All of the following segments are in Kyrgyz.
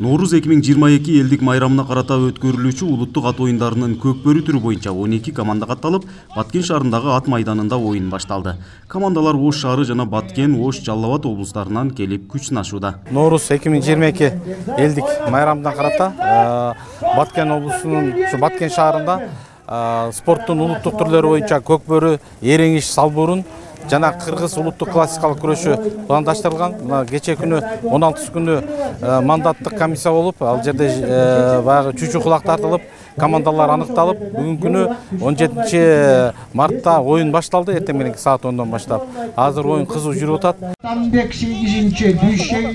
Ноорuz 2022 элдик майрамына карата өткөрүлүүчү улуттук ат оюндарынын көкбөрү түрү боюнча 12 команда катталып, Баткен шаарындагы ат майданында оюн башталды. Командалар Ош шаары жана Баткен, Ош, Жалал Абад облустарынан келип күч сынашууда. Ноорuz 2022 элдик майрамына карата Баткен облусунун Баткен шаарында спорттун улуттук түрлөрү боюнча көкбөрү, эреңиш, салбурун жана кыргыз улуттук классикалык күрөшү пландаштырылган. Мына кече күнү 16 күнү мандаттык комиссия болуп, ал жерде баягы чүчү кулак тартылып, командалар аныкталып, бүгүнкү күнү 17 мартта оюн башталды, эртең мененки саат 10дон баштап. Азыр оюн кызуу жүрүп атат.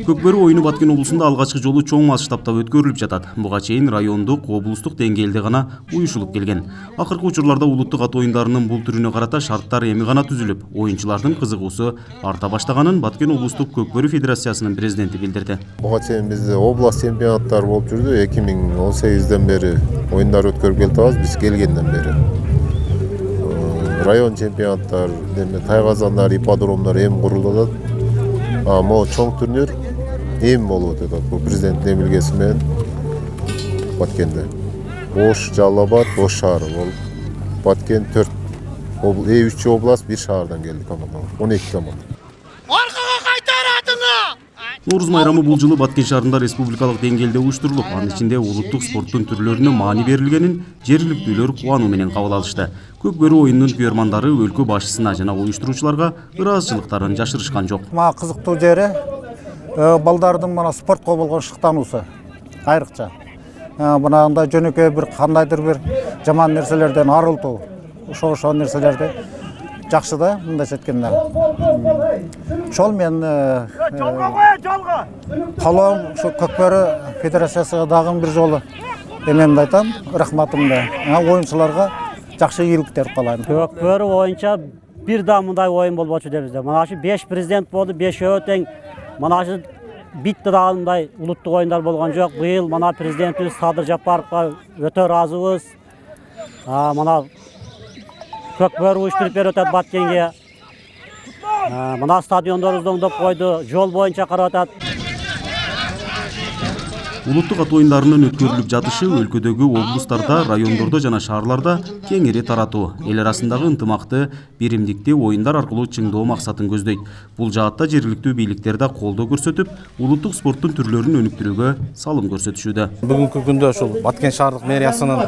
Көкбөрү оюну Баткен облусунда алгачкы жолу чоң масштабта өткөрүлүп жатат. Буга чейин райондук, облустук деңгээлде гана уюшулуп келген. Акыркы учурларда улуттук ат оюндарынын бул түрүнө карата шарттар эми гана түзүлүп, оюнчулардын кызыгуусу арта баштаганын Баткен облустук көкбөрү федерациясынын президенти билдирди. Буга чейин бизде област чемпионаттары болуп жүрдү. 2018ден бери оюндар өткөрүп келатабыз, биз келгенден бери. Район чемпионаттар, тайгазандар, ипподромдор эми курулуп атат. Могу чоң турнир эми болуп атат. Бул президенттин эмилгеси менен Баткенде. Ош, Жалал Абад, Ош шаары болуп, Баткен 4 3 област, 1 шаардан келди командалар. 12 команда. Ноорuz майрамы бул жылы Баткен шаарында республикалык деңгээлде уюштурулуп, анын ичинде улуттук спорттун түрлөрүнө маани берилгенин жергиликтүүлөр кубануу менен кабыл алышты. Көкбөрү оюнунун күйөрмандары өлкө башчысына жана уюштуруучуларга ыраазычылыктарын жашырышкан жок. Кызыктуу жери балдардын мына спортко болгон шыктануусу айрыкча. Мынандай жөнөкөй бир кандайдыр бир жаман нерселерден арылтуу, ошол нерселерди жакшы да, мындайча айтканда. Ошол мен калоом ушу Көкбөрү федерациясына дагы бир жолу эмемди айтам, рахматымды. Оюнчуларга жакшы ийгиликтер каалайм. Көкбөрү боюнча бир да мындай оюн болбочу дейбиз. Мына ушу 5 президент болду, 5 тең. Мына ушу битти дагы мындай улуттук оюндар болгон жок. Быйыл мына президентибиз Садыр Жапаровго өтө ыраазыбыз. Мына Көкбөрү уюштуруп берип атат Баткенге. Мына стадиондорубузду оңдоп койду, жол боюнча карап атат. Улуттук ат оюндарынын өткөрүлүп жатышы өлкөдөгү облустарда, райондордо жана шаарларда кеңири таратуу, эл арасындагы ынтымакты, биримдикти оюндар аркылуу чыңдоо максатын көздөйт. Бул жаатта жергиликтүү бийликтер да колдоо көрсөтүп, улуттук спорттун түрлөрүн өнүктүрүүгө салым көрсөтүшүүдө. Бүгүнкү күндө ушул Баткен шаардык мэриянын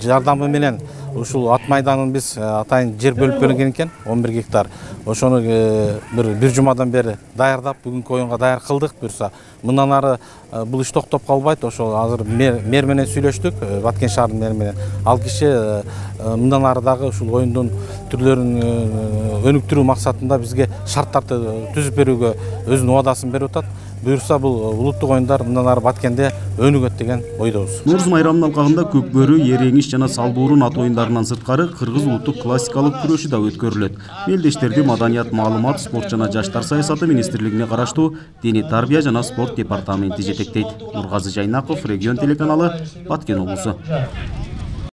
жардамы менен ушул ат майданын биз атайын жер бөлүп берилген экен, 11 гектар. Ошону бир жумадан бери даярдап, бүгүнкү оюнга даяр кылдык. Буюрса, мындан ары бул иш токтоп калбайт. Ошол азыр мэр менен сүйлөштүк, Баткен шаарынын мэри менен. Ал киши мындан ары дагы ушул оюндун түрлөрүн өнүктүрүү максатында бизге шарттарды түзүп берүүгө өзүнүн убадасын берип атат. Буюрса, бул улуттук оюндар мындан ары Баткенде өнүгөт деген ойдобуз. Ноорuz майрамынын алкагында көкбөрү, эреңиш жана салбурун ат оюндарынан сырткары кыргыз улуттук классикалык күрөшү да өткөрүлөт. Мелдештерди Маданият, маалымат, спорт жана жаштар саясаты министрлигине караштуу Дене тарбия жана спорт департаменти жетектейт. Нургазы Жайнаков, Регион телеканалы, Баткен облусу.